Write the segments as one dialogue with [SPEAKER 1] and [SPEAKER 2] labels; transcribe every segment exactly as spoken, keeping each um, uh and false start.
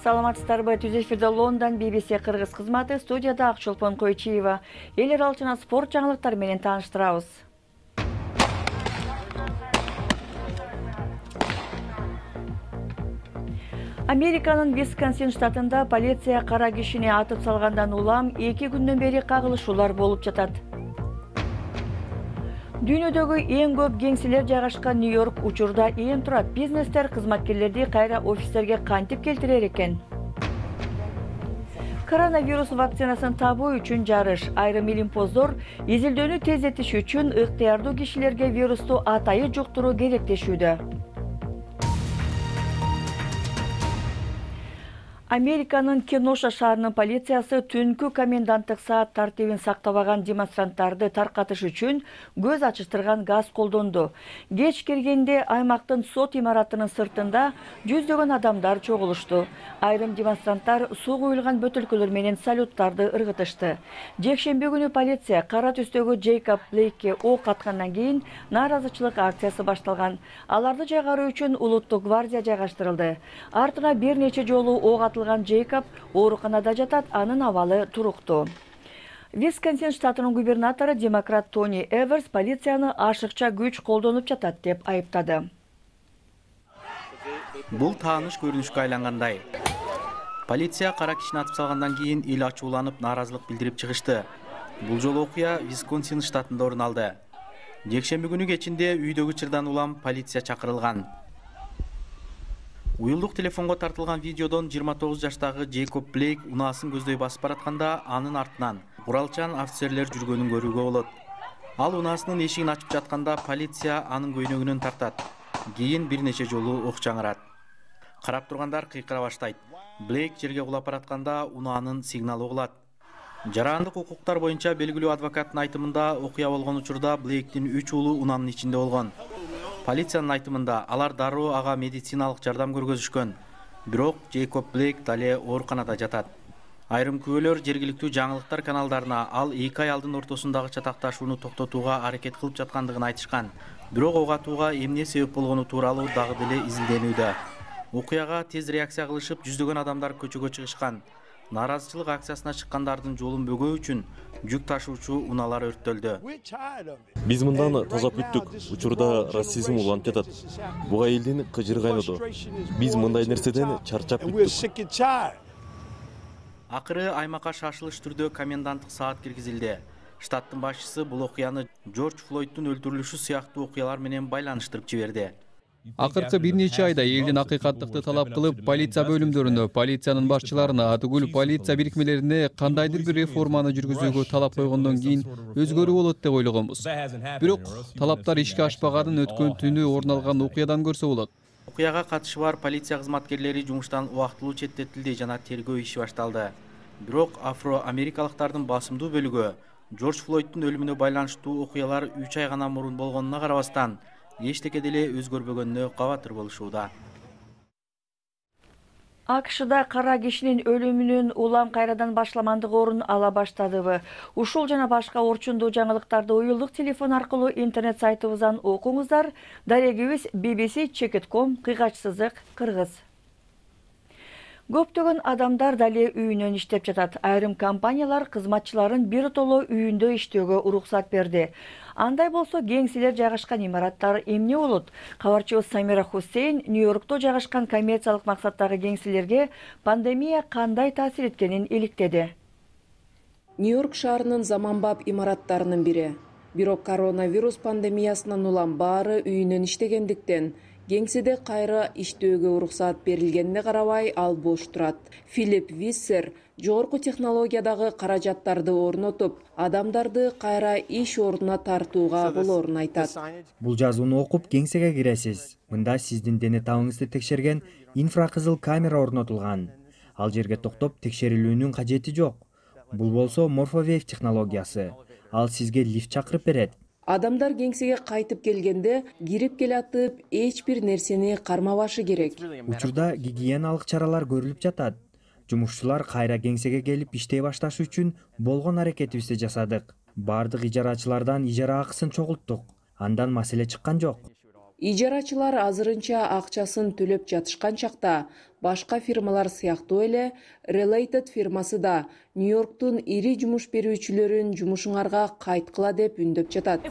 [SPEAKER 1] Саламатсыздарбы? Түз эфирде Лондон би би си кыргыз кызматы, студияда Акчолпон Койчиева. Эл аралык спорт жаңылыктары менен тааныштырабыз. Американын Висконсин штатында полиция кара кишини атып салгандан улам эки күндөн бери кагылышуулар болуп жатат. Дүйнөдөгү эң көп кеңселер жайгашкан Нью-Йорк учурда эң турат бизнестер кызматкерлерди кайра офистерге кантип келтирер экен? Коронавирус вакцинасын табуу үчүн жарыш. Айрым илимпоздор изилдөөнү тездетиш үчүн ыктыярдуу кишилерге вирусту атайы жуктуруу керектешүүдө. Американын Кеноша шаарынын полициясы түнкү коменданттык саат тартибин сактабаган демонстранттарды таркатыш үчүн көз ачыштырган газ колдонду. Кеч киргенде аймактын сот имаратынын сыртында жүздөгөн адамдар чогулушту. Айрым демонстранттар суу куюлган бөтөлкөлөр менен салюттарды ыргытышты. Жекшемби күнү полиция кара түстөгү Джейкоб Блейкке ок аткандан кийин нааразычылык акциясы башталган. Аларды жайгаруу үчүн улуттук гвардия жайгаштырылды. Артына бир нече жолу ок атылган Джейкоб ооруканада жатат, анын абалы туруктуу. Висконсин штатынын губернатору демократ Тони Эверс полицияны ашыкча күч колдонуп жатат деп айыптады.
[SPEAKER 2] Бул тааныш көрүнүшкө айлангандай. Полиция кара кишини атып салгандан кийин эл ачууланып нааразылык билдирип чыгышты. Бул жолу окуя Висконсин штатында орун алды. Жекшемби күнү кечинде үйдөгү чырдан улам полиция чакырылган. Уюлдук телефонго тартылган видеодон жыйырма тогуз жаштагы Джейкоб Блейк унаасын көздөй басып баратканда анын артынан куралчан офицерлер жүргөнүн көрүүгө болот. Ал унаасынын эшигин ачып жатканда полиция анын көйнөгүнөн тартат. Кийин бир нече жолу ок жаңырат. Карап тургандар кыйкыра баштайт. Блейк жерге кулап баратканда унаанын сигналы угулат. Жарандык укуктар боюнча белгилүү адвокаттын айтымында окуя болгон учурда Блейктин үч уулу унаанын ичинде болгон. Полициянын айтымында алар дароо ага медициналык жардам көргөзүшкөн. Бирок Джейкоб Блейк дале ооруканада жатат. Айрым күбөлөр жергиликтүү жаңылыктар каналдарына ал эки аялдын ортосундагы чатакташууну токтотууга аракет кылып жаткандыгын айтышкан. Бирок ок атууга эмне себеп болгону тууралуу дагы деле изилденүүдө. Окуяга тез реакция кылышып, жүздөгөн адамдар көчөгө чыгышкан. Нааразычылык акциясына чыккандардын жолун бөгөө үчүн жүк ташуучу унаалар өрттөлдү.
[SPEAKER 3] Биз мындан таза күттүк. Учурда расизм уланып жатат. Буга элдин кыжыры кайноду. Биз мындай нерседен чарчап күттүк.
[SPEAKER 2] Акыры аймакка шашылыш түрдө коменданттык саат киргизилди. Штаттын башчысы бул окуяны Джордж Флойдтун өлтүрүлүшү сыяктуу окуялар менен байланыштырып жиберди.
[SPEAKER 4] Акыркы бир нече айда элдин акыйкаттыкты талап кылып, полиция бөлүмдөрүндө, полициянын башчыларына, атүгүл полиция бирикмелерине кандайдыр бир реформаны жүргүзүүгө талап койгондон кийин өзгөрүү болот деп ойлогонбуз. Бирок талаптар ишке ашпаганын өткөн түнү орун алган окуядан көрсө болот.
[SPEAKER 2] Окуяга катышы бар полиция кызматкерлери жумуштан убактылуу четтетилди жана тергөө иши башталды. Бирок афро-америкалыктардын басымдуу бөлүгү Джордж Флойдтун өлүмүнө байланыштуу окуялар үч ай гана мурун болгонуна карабастан эчтеке деле өзгөрбөгөнүнө кабатыр болушууда.
[SPEAKER 1] АКШда кара кишинин өлүмүнүн улам кайрадан башламандыгы орун ала баштадыбы? Ушул жана башка орчундуу жаңылыктарды уюлдук телефон аркылуу интернет сайтыбыздан окуңуздар. Дарегибиз би би си чек точка ком кыйгач сызык кыргыз. Көптөгөн адамдар дале үйүнөн иштеп жатат. Айрым компаниялар кызматчыларын биротоло үйүндө иштөөгө уруксат берди. Андай болсо кеңселер жайгашкан имараттар эмне болот? Кабарчыбыз Самира Хусейн Нью-Йоркто жайгашкан коммерциялык максаттагы кеңселерге пандемия кандай таасир эткенин иликтеди.
[SPEAKER 5] Нью-Йорк шаарынын заманбап имараттарынын бири. Бирок коронавирус пандемиясынан улам баары үйүнөн иштегендиктен кеңседе кайра иштөөгө уруксат берилгенине карабай ал бош турат. Филипп Виссер жогорку технологиядагы каражаттарды орнотуп, адамдарды кайра иш ордуна тартууга болоорун айтат.
[SPEAKER 6] Бул жазууну окуп кеңсеге киресиз. Мында сиздин дене табыңызды текшерген инфракызыл камера орнотулган. Ал жерге токтоп текшерилүүнүн кажети жок. Бул болсо морфовейв технологиясы. Ал сизге лифт чакырып берет.
[SPEAKER 5] Адамдар кеңсеге кайтып келгенде кирип келатып эч бир нерсени кармабашы керек.
[SPEAKER 6] Учурда гигиеналык чаралар көрүлүп жатат. Жумушчулар кайра кеңсеге келип иштей башташы үчүн болгон аракетибизди жасадык. Бардык ижарачылардан ижара акысын чогулттук. Андан маселе чыккан жок.
[SPEAKER 5] Ижарачылар азырынча акчасын төлөп жатышкан чакта башка фирмалар сыяктуу эле Related фирмасы да Нью-Йорктун ири жумуш берүүчүлөрүн жумушуңарга кайткыла деп үндөп жатат.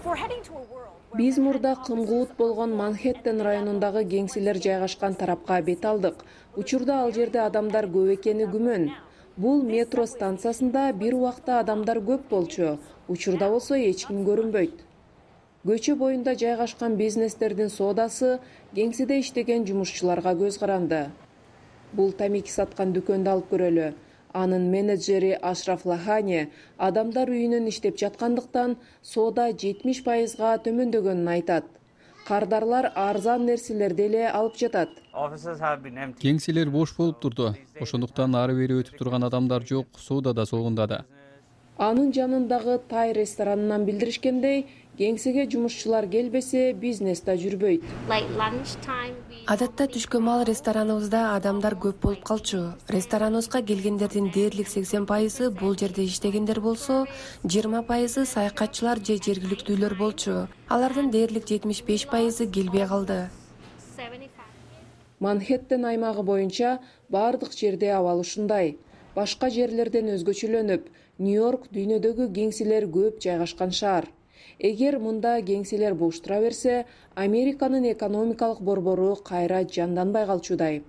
[SPEAKER 5] Биз мурда кымгуут болгон Манхэттен районундагы кеңселер жайгашкан тарапка бет алдык. Учурда ал жерде адамдар көп экени күмөн. Бул метро станциясында бир убакта адамдар көп болчу. Учурда болсо эч ким көрүнбөйт. Көчө боюнда жайгашкан бизнестердин соодасы кеңседе иштеген жумушчуларга көз каранды. Бул тамеки саткан дүкөндү алып көрөлү. Анын менеджери Ашраф Лахани адамдар үйүнөн иштеп жаткандыктан соода жетимиш пайызга төмөндөгөнүн айтат. Кардарлар арзан нерселерди эле алып жатат.
[SPEAKER 4] Кеңселер бош болуп турду. Ошондуктан ары бери өтүп турган адамдар жок, соода да солгундады.
[SPEAKER 5] Анын жанындагы тай ресторанынан билдиришкендей, кеңсеге жумушчулар келбесе, бизнес да жүрбөйт.
[SPEAKER 7] Адатта түшкө маал рестораныбызда адамдар көп болуп калчу. Рестораныбызга келгендердин дээрлик сексен пайызы бул жерде иштегендер болсо, жыйырма пайызы саякатчылар же жергиликтүүлөр болчу. Алардын дээрлик жетимиш беш пайызы келбей калды.
[SPEAKER 5] Манхэттен аймагы боюнча бардык жерде абал ушундай. Башка жерлерден өзгөчөлөнүп, Нью-Йорк дүйнөдөгү кеңселер көп жайгашкан шаар. Эгер мында кеңселер бош тура берсе, Американын экономикалык борбору кайра жанданбай калчудай.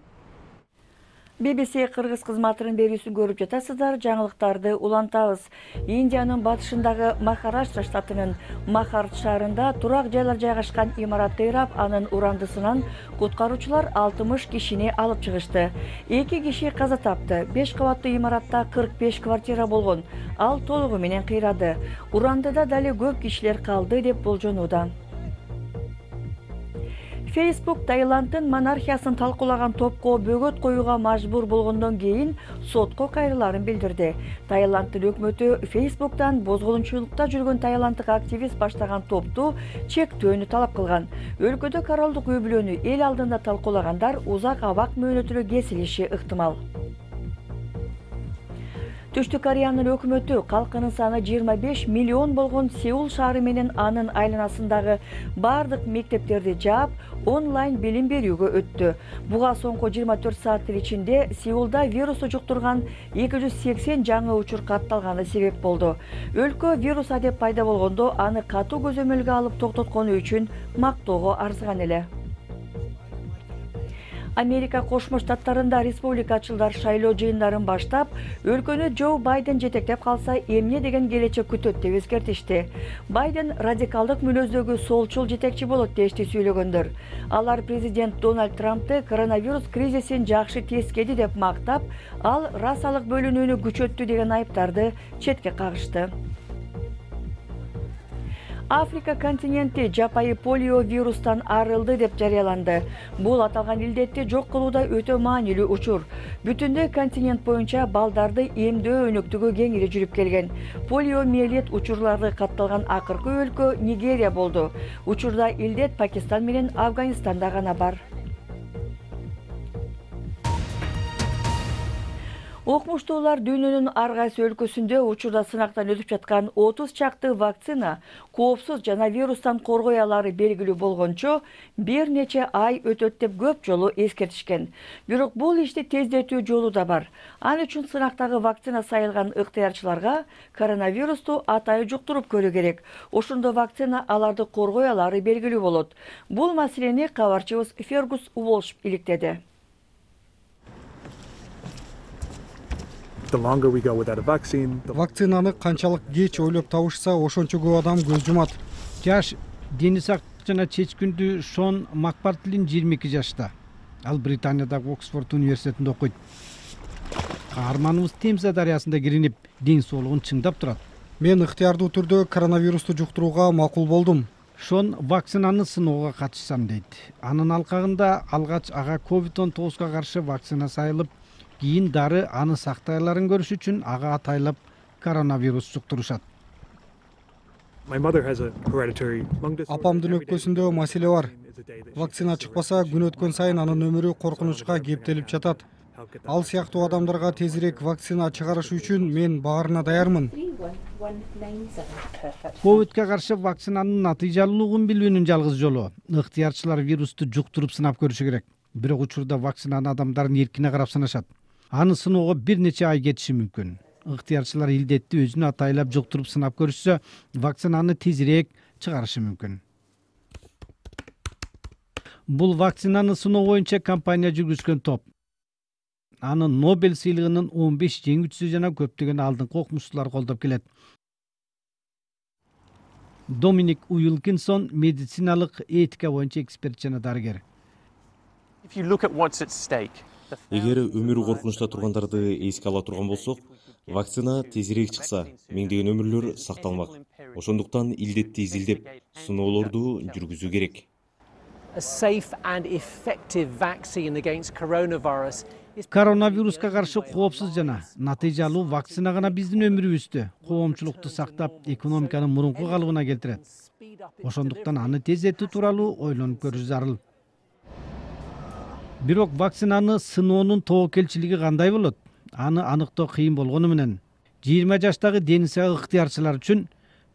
[SPEAKER 1] би би си кыргыз кызматынын берүүсүн көрүп жатасыздар. Жаңылыктарды улантабыз. Индиянын батышындагы Махараштра штатынын Махарт шаарында турак жайлар жайгашкан имарат ыйрап, анын урандысынан куткаруучулар алтымыш кишини алып чыгышты. эки киши каза тапты. беш кабаттуу имаратта кырк беш квартира болгон. Ал толугу менен кыйрады. Урандыда дали көп кишилер калды деп болжонууда. Facebook Таиланддын монархиясын талкуулаган топко бөгөт коюуга мажбур болгондон кийин сотко кайрыларын билдирди. Таиланддын өкмөтү Facebook'тан бозголумчулукта жүргөн таиланддык активист баштаган топту чектөөнү талап кылган. Өлкөдө королдук үй-бүлөнү эл алдында талкуулагандар узак абак мөөнөтүнө кесилиши ыктымал. Түштүк Кореянын өкмөтү калкынын саны жыйырма беш миллион болгон Сеул шаары менен анын айланасындагы бардык мектептерди жаап, онлайн билим берүүгө өттү. Буга соңку жыйырма төрт сааттын ичинде Сеулда вирусту жуктурган эки жүз сексен жаңы учур катталганы себеп болду. Өлкө вирус адеп пайда болгондо аны катуу көзөмөлгө алып токтоткону үчүн мактоого арзыган эле. Америка Кошмо Штаттарында республикачылдар шайлоо жыйындарын баштап, өлкөнү Джо Байден жетектеп калса, эмне деген келечек күтөт деп эскертишти. Байден радикалдык мүнөздөгү солчул жетекчи болот дешти сүйлөгөндөр. Алар президент Дональд Трампты коронавирус кризисин жакшы тескеди деп мактап, ал расалык бөлүнүүнү күчөттү деген айыптарды четке кагышты. Африка континенти жапайы полио вирустан арылды деп жарыяланды. Бул аталган илдетти жок кылууда өтө маанилүү учур. Бүтүндөй континент боюнча балдарды эмдөө өнөктүгү кеңири жүрүп келген. Полиомиелит учурлары катталган акыркы өлкө Нигерия болду. Учурда илдет Пакистан менен Афганистанда гана бар. Окумуштуулар дүйнөнүн ар кайсы өлкөсүндө учурда сынактан өтүп жаткан отуз чакты вакцина коопсуз жана вирустан коргой алары белгилүү болгончо бир нече ай өтөт деп көп жолу эскертишкен. Бирок бул ишти тездетүү жолу да бар. Ал үчүн сынактагы вакцина сайылган ыктыярчыларга коронавирусту атайы жуктуруп көрүү керек. Ошондо вакцина аларды коргой алары белгилүү болот. Бул маселени кабарчыбыз Фергус Уолш иликтеди.
[SPEAKER 8] Вакцинаны канчалык кеч ойлоп табышса, ошончо көп адам көз жумат. Жаш дени сактык жана чечкиндүү Шон Макпартилин жыйырма эки жашта. Ал Британиядагы Оксфорд университетинде окуйт. Каарманыбыз Темза дарыясында киринип, ден соолугун чыңдап турат. Мен ыктыярдуу түрдө коронавирусту жуктурууга макул болдум. Шон вакцинаны сыноого катышсам дейт. Анын алкагында алгач ага ковид он тогузга каршы вакцина сайылып, кийин дары аны сактайларын көрүш үчүн ага атайлап коронавирус жуктурушат. Апамдын өкпөсүндө маселе бар. Вакцина чыкпаса, күн өткөн сайын анын өмүрү коркунучка кептелип жатат. Ал сыяктуу адамдарга тезирээк вакцина чыгарыш үчүн мен баарына даярмын. ковидке каршы вакцинанын натыйжалуулугун билүүнүн жалгыз жолу ыктыярчылар вирусту жуктуруп сынап көрүшү керек. Бирок учурда вакцинаны адамдардын эркине карап сынашат. Аны сыноого бир нече ай кетиши мүмкүн. Ыктыярчылар илдетти өзүнө атайлап жуктуруп сынап көрүшсө, вакцинаны тезирээк чыгарышы мүмкүн. Бул вакцинаны сыноо боюнча компания жүргүзгөн топ. Аны Нобель сыйлыгынын он беш жеңүүчүсү жана көптөгөн алдыңкы окумуштуулар колдоп келет. Доминик Уилкинсон медициналык этика боюнча эксперт жана дарыгер.
[SPEAKER 3] Эгер өмүрү коркунучта тургандарды эске ала турган болсок, вакцина тезирээк чыкса, миңдеген өмүрлөр сакталмак. Ошондуктан илдетти изилдеп, сыноолорду жүргүзүү керек.
[SPEAKER 8] Коронавируска каршы коопсуз жана натыйжалуу вакцина гана биздин өмүрүбүздү, коомчулукту сактап, экономиканы мурунку калыбына келтирет. Ошондуктан аны тездетүү тууралуу ойлонуп көрүш зарыл. Бирок вакцинаны сыноонун тобокелчилиги кандай болот? Аны аныктоо кыйын болгону менен жыйырма жаштагы дени сау ыктыярчылар үчүн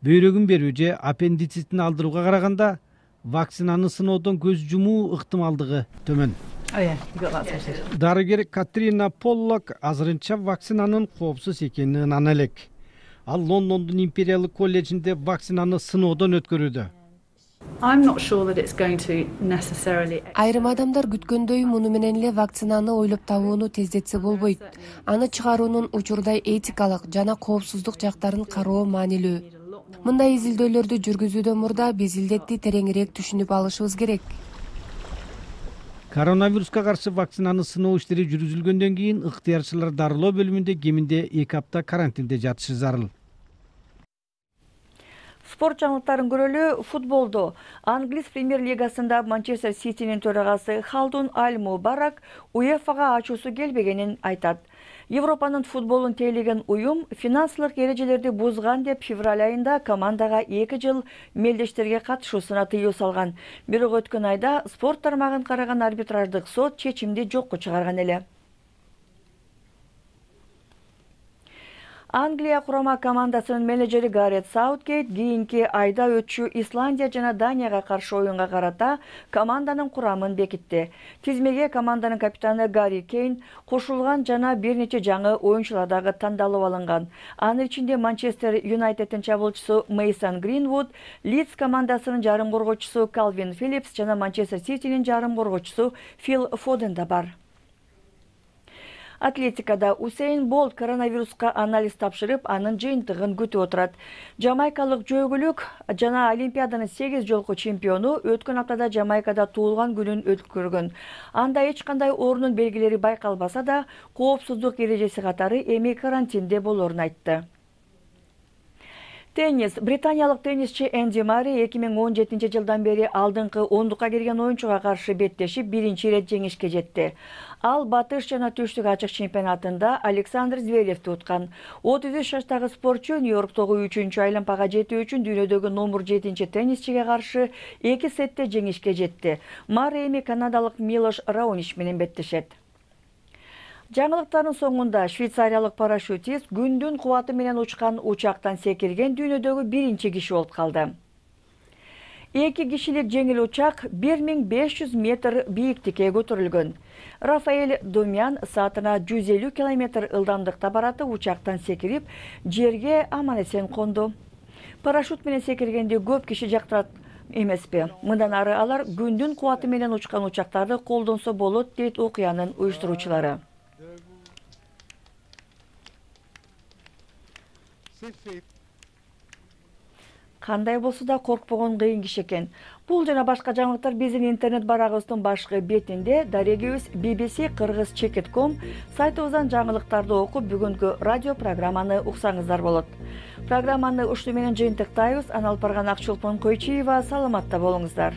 [SPEAKER 8] бөйрөгүн берүү же аппендицитин алдырууга караганда вакцинаны сыноодон көз жумуу ыктымалдыгы төмөн. Дарыгер Катрина Поллок азырынча вакцинанын коопсуз экенин ынана элек. Ал Лондондун Империялык колледжинде вакцинаны сыноодон өткөрүүдө.
[SPEAKER 7] Айрым адамдар күткөндөй муну менен эле вакцинаны ойлоп табууну тездетсе болбойт. Аны чыгаруунун учурда этикалык жана коопсуздук жактарын кароо маанилүү. Мындай изилдөөлөрдү жүргүзүүдөн мурда биз илдетти тереңирээк түшүнүп алышыбыз керек.
[SPEAKER 8] Коронавируска каршы вакцинаны сыноо иштери жүргүзүлгөндөн кийин ыктыярчылар дарылоо бөлүмүндө кеминде эки апта карантинде жатышы зарыл.
[SPEAKER 1] Спорт жаңылыктарын көрөлү. Футболдо Англис премьер лигасында Манчестер Ситинин төрагасы Халдун Аль-Мубарак УЕФАга ачуусу келбегенин айтат. Европанын футболун тейлеген уюм финансылык эрежелерди бузган деп февраль айында командага эки жыл мелдештерге катышуусуна тыюу салган. Бирок өткөн айда спорт тармагын караган арбитраждык сот чечимди жокко чыгарган эле. Англия курама командасынын менеджери Гарет Саутгейт кийинки айда өтчү Исландия жана Данияга каршы оюнга карата команданын курамын бекитти. Тизмеге команданын капитаны Гарри Кейн кошулган жана бир нече жаңы оюнчулар дагы тандалып алынган. Анын ичинде Манчестер Юнайтеддин чабуулчусу Мейсон Гринвуд, Лидс командасынын жарым коргоочусу Калвин Филлипс жана Манчестер Ситинин жарым коргоочусу Фил Фоден да бар. Атлетикада Усейн Болт коронавируска анализ тапшырып, анын жыйынтыгын күтүп отурат. Жамайкалык жөөгүлүк жана Олимпиаданын сегиз жолку чемпиону өткөн аптада Жамайкада туулган күнүн өткөргөн. Анда эч кандай оорунун белгилери байкалбаса да, коопсуздук эрежеси катары эми карантинде болорун айтты. Теннис. Британиялык теннисчи Энди Мари эки миң он жетинчи жылдан бери алдыңкы ондукка кирген оюнчуга каршы беттешип биринчи ирет жеңишке жетти. Ал батыш жана түштүк ачык чемпионатында Александр Зверевди уткан. отуз үч жаштагы спортчу Нью-Йорктогу үчүнчү айланпага жетүү үчүн дүйнөдөгү номер жетинчи теннисчиге каршы эки сетте жеңишке жетти. Мари эми канадалык Милош Раонич менен беттешет. Жаңылыктардын соңунда швейцариялык парашютист күндүн кубаты менен учкан учактан секирген дүйнөдөгү биринчи киши болуп калды. Эки кишилик жеңил учак бир миң беш жүз метр бийиктикке көтөрүлгөн. Рафаэль Домян саатына жүз элүү километр ылдамдыкта бараты учактан секирип, жерге аман эсен конду. Парашют менен секиргенди көп киши жактырат эмеспи? Мындан ары алар күндүн кубаты менен учкан учактарды колдонсо болот, дейт окуянын уюштуруучулары. Кандай болсо да коркпогон кыйын киши экен. Бул жана башка жаңылыктар биздин интернет барагыбыздын башкы бетинде, дарегибиз би би си кыргыз чекит точка ком сайтыбыздан жаңылыктарды окуп, бүгүнкү радио программаны уксаңыздар болот. Программаны ушуну менен жыйынтыктайбыз. Аналып барган Акчулпан Койчиева, саламатта болуңуздар.